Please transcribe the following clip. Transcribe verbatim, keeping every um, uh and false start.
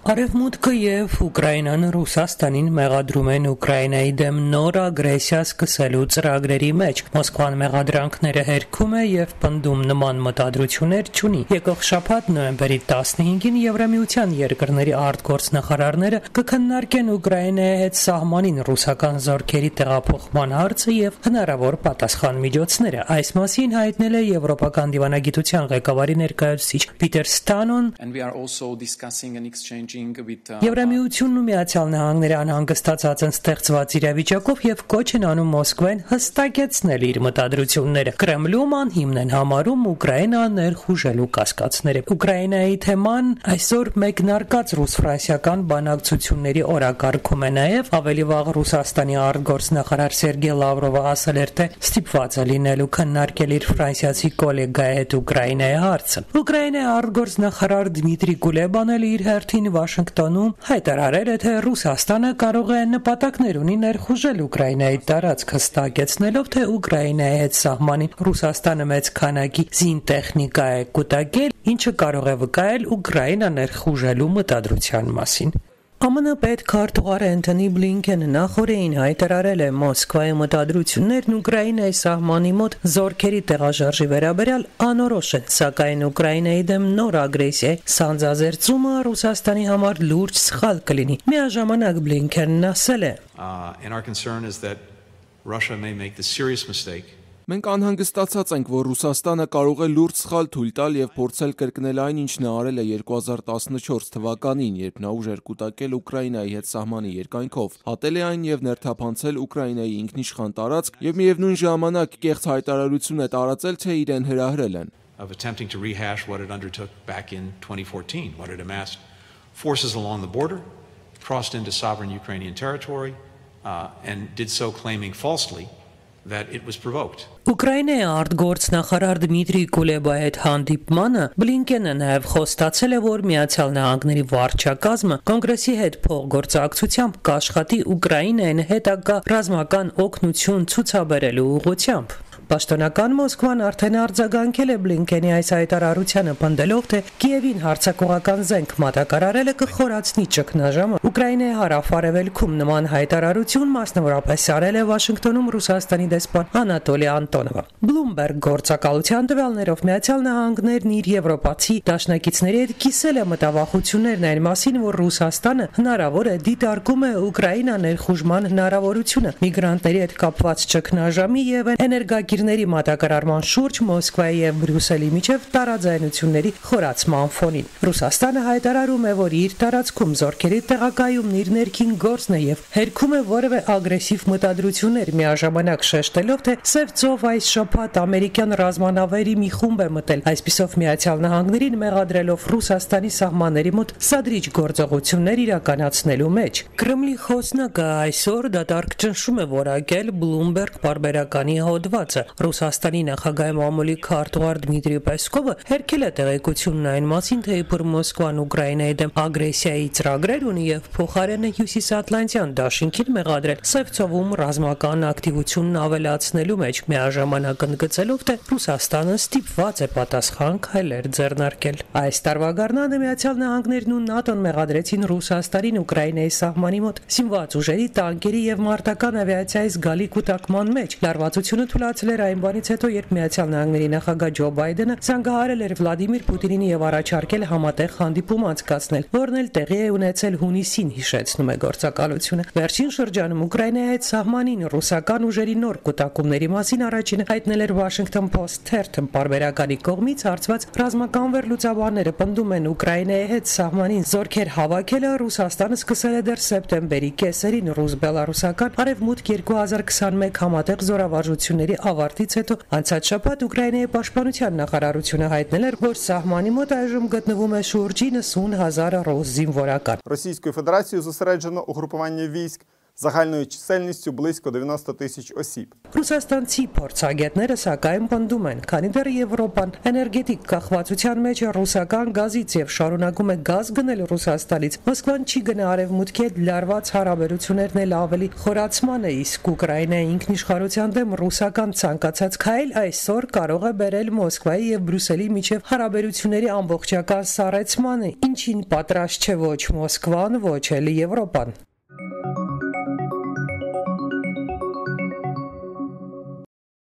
Արևմուտքը եւ Ուկրաինան Ռուսաստանին մեղադրում են Ուկրաինայի դեմ նոր ագրեսիա սկսելու ծրագրերի մեջ։ Մոսկվան մեղադրանքները հերքում է եւ պնդում նման մտադրություններ չունի։ Եկող շաբաթ նոյեմբերի տասնհինգին Եվրամիության երկրների արտգործնախարարները կքննարկեն Ուկրաինայի հետ սահմանին ռուսական զորքերի տեղափոխման հարցը եւ հնարավոր պատասխան միջոցները։ Այս մասին հայտնել է Եվրոպական դիվանագիտության ղեկավարի ներկայացուցիչ Պիտեր Ստանոն։ Եվրամիությունն ու Միացյալ Նահանգները անհանգստացած են ստեղծված իրավիճակով եւ կոչ են անում Մոսկվային հստակեցնել իր մտադրությունները։ Կրեմլում անհիմն են համարում Ուկրաինան ներխուժելու կասկածները։ Ուկրաինայի թեման այսօր մեկնարկած ռուս-ֆրանսիական բանակցությունների օրակարգում է նաեւ ավելի վաղ Ռուսաստանի արտգործնախարար Սերգեյ Լավրովը ասել էր, թե ստիպված է լինելու քննարկել իր ֆրանսիացի գոլեգայի հետ Ուկրաինայի հարցը։ Ուկրաինայի արտգործնախարար Դմիտրի Կուլեբան էլ իր հերթին Վաշինգտոնում հայտարարել է, թե Ռուսաստանը կարող է նպատակներ ունի ներխուժել Ուկրաինայի տարածքը, հստակեցնելով, թե Ուկրաինայի հետ սահմանին Ռուսաստանը մեծ քանակի զինտեխնիկա է կուտակել, ինչը կարող է վկայել Ուկրաինա ներխուժելու մտադրության մասին։ ԱՄՆ պետքարտուղար Էնթոնի Բլինքենը նախորդին հայտարարել է Մոսկվայի մտադրություններն Ուկրաինայի սահմանի մոտ զորքերի տեղաշարժի վերաբերյալ անորոշ են, սակայն Ուկրաինայի դեմ նոր ագրեսիայի սանձազերծումը Ռուսաստանի համար լուրջ սխալ կլինի։ Միաժամանակ Բլինքենն ասել է. Մենք անհանգստացած ենք, որ Ռուսաստանը կարող է լուրջ սխալ թույլ տալ եւ փորձել կրկնել այն, ինչ նա արել է երկու հազար տասնչորս թվականին, երբ նա ուժեր կուտակել Ուկրաինայի հետ սահմանի երկայնքով, հատել է այն եւ ներթափանցել Ուկրաինայի ինքնիշխան տարածք եւ միևնույն ժամանակ կեղծ հայտարարություն է տարածել, թե իրեն հրահրել են։ Of attempting to rehash what it undertook back in twenty fourteen, what it amassed forces along the border, crossed into sovereign Ukrainian territory, uh, and did so claiming falsely that it was provoked. Ուկրաինայի արտգործնախարար Դմիտրի Կուլեբայի հետ հանդիպմանը Բլինկենը նաև խոստացել է, որ Միացյալ Նահանգների վարչակազմը կոնգրեսի հետ փոխգործակցությամբ կաշխատի Ուկրաինային հետագա ռազմական օգնություն ցուցաբերելու ուղղությամբ։ Պաշտոնական Մոսկվան արդեն արձագանքել է Բլինկենի այս հայտարարությանը, պնդելով, թե Կիևին հարձակողական զենք մատակարարելը կխորացնի ճգնաժամը։ Ուկրաինայի հարավ-արևելքում նման հայտարարություն մասնավորապես արել է Վաշինգտոնում Ռուսաստանի դեսպան Անատոլի Անտոնովը։ Bloomberg գործակալության տվյալներով Միացյալ Նահանգներն իր եվրոպացի դաշնակիցների հետ կիսել է մտավախություններն այն մասին, որ Ռուսաստանը հնարավոր է դիտարկում է Ուկրաինա ներխուժման հնարավորությունը միգրանտների հետ կապված ճգնաժամի եւ էներգակիրների մատակարարման շուրջ Մոսկվայի եւ Բրյուսելի միջև տարաձայնությունների խորացման ֆոնին։ Ռուսաստանը հայտարարում է, որ իր տարածքում զորքերի տեղակայումն իր ներքին գործն է եւ հերքում է որևէ ագրեսիվ մտադրություններ, միաժամանակ շեշտելով, թե Սև ծով այս շաբաթ ամերիկյան ռազմանավերի մի խումբ է մտել, այսպիսով Միացյալ Նահանգներին մեղադրելով Ռուսաստանի սահմանների մոտ սադրիչ գործողություններ իրականացնելու մեջ։ Կրեմլի խոսնակը այսօր դատարկ ճնշում է որակել Bloomberg պարբերականի հոդվածը։ Ռուսաստանի նախագահի մամուլի քարտուղար Դմիտրի Պեսկովը հերքել է տեղեկությունն այն մասին, թե իբր Մոսկվան Ուկրաինայի դեմ ագրեսիայի ծրագրեր ունի եւ փոխարենը Հյուսիսատլանտյան դաշինքին մեղադրել Սև ծովում ռազմական ակտիվությունն ավելացնելու մեջ, միաժամանակ ընդգծելով, թե Ռուսաստանը ստիպված է պատասխան քայլեր ձեռնարկել։ Այս տարվա գարնանը Միացյալ Նահանգներն ու ՆԱՏՕ-ն մեղադրեցին Ռուսաստանին Ուկրաինայի սահմանի մոտ զինված ուժերի, տանկերի եւ մարտական ավիացիայի զգալի կուտակման մեջ։ Լարվածությունը թույլատրել էր այն բանից հետո, երբ Միացյալ Նահանգների նախագահ Ջո Բայդենը զանգահարել էր Վլադիմիր Պուտինին եւ առաջարկել համատեղ հանդիպում անցկացնել, որն էլ տեղի է ունեցել հունիսին, հիշեցնում է գործակալությունը։ Վերջին շրջանում Ուկրաինայի հետ սահմանին ռուսական ուժերի նոր կուտակումների մասին առաջինը հայտնել էր Washington Post թերթը պարբերականի կողմից հարցված ռազմական վերլուծաբանները պնդում են Ուկրաինայի հետ սահմանին զորքեր հավաքելը Ռուսաստանը սկսել է դեռ սեպտեմբերի կեսերին ռուս-բելարուսական Արևմուտք երկու հազար քսանմեկ համատեղ զորավարժությունների ավարտից հետո անցած շաբաթ Ուկրաինայի պաշտպանության նախարարությունը հայտնել էր, որ սահմանի մոտ այժմ գտնվում է շուրջ իննսուն հազար ռուս զինվորական։ Російською Федерацією зосереджено угрупування військ загальною чисельністю близько дев'яносто тисяч осіб. Ռուսաստանցի փորձագետները սակայն պնդում են, քանի դեռ Եվրոպան էներգետիկ կախվածության մեջ է ռուսական գազից եւ շարունակում է գազ գնել Ռուսաստանից, Մոսկվան չի գնա արևմուտքի հետ լարված հարաբերություններն էլ ավելի խորացման է, իսկ Ուկրաինայի ինքնիշխանության դեմ ռուսական ցանկացած քայլ այսօր կարող է բերել Մոսկվայի եւ Բրյուսելի միջև հարաբերությունների ամբողջական սառեցմանը, ինչին պատրաստ չէ ոչ Մոսկվան, ոչ էլ Եվրոպան։